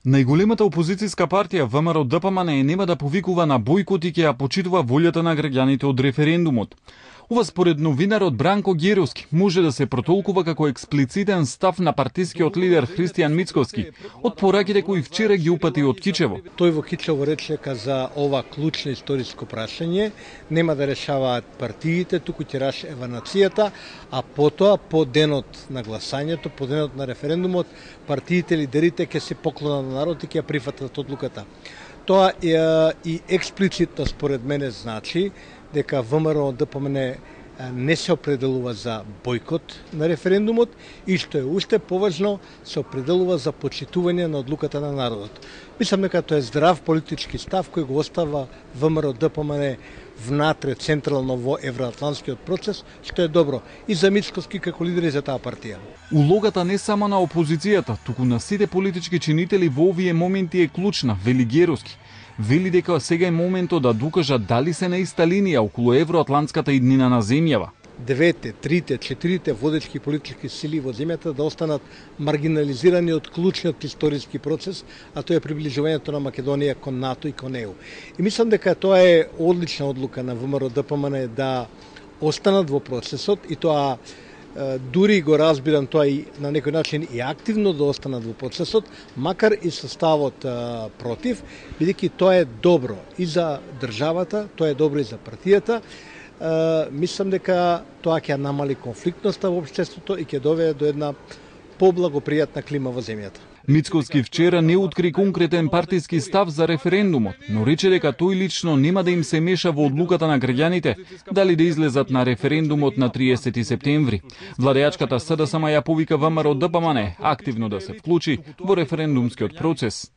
Најголемата опозицијска партија ВМРО-ДПМН нема да повикува на бојкот и ќе ја почитува волјата на граѓаните од референдумот. Ова според новинарот Бранко Геровски може да се протолкува како експлицитен став на партискиот лидер Христијан Мицковски од пораките кои вчера ги упати од Кичево. Тој во Кичево рече дека за ова клучно историско прашање нема да решаваат партиите, туку ќе решава нацијата, а потоа по денот на гласањето, по денот на референдумот, партиите лидерите ќе се поклонат на народот и ќе ја прифатат одлуката. Тоа и експлицитно според мене значи дека ВМРО-ДПМН не се определува за бојкот на референдумот и што е уште поважно, се определува за почитување на одлуката на народот. Мислам дека тоа е здрав политички став кој го остава ВМРО-ДПМН внатре централно во евроатлантскиот процес, што е добро и за Мицковски како лидер и за таа партија. Улогата не само на опозицијата, туку на сите политички чинители во овие моменти е клучна, вели Геровски. Вели дека сега е моментот да докажат дали се на иста линија околу евроатлантската иднина на земјава. Двете, трите, четирите водечки политички сили во земјата да останат маргинализирани од клучниот историски процес, а тоа е приближувањето на Македонија кон НАТО и кон ЕУ. И мислам дека тоа е одлична одлука на ВМРО-ДПМН да останат во процесот и тоа дури го разбирам тоа и на некој начин и активно да останат во процесот, макар и со ставот против, бидејќи тоа е добро и за државата, тоа е добро и за партијата. Мислам дека тоа ќе намали конфликтноста во општеството и ќе доведе до една поблагопријатна клима во земјата. Мицковски вчера не откри конкретен партиски став за референдумот, но рече дека тој лично нема да им се меша во одлуката на граѓаните дали да излезат на референдумот на 30 септември. Владеачката СДСМ ја повика ВМРО-ДПМН активно да се вклучи во референдумскиот процес.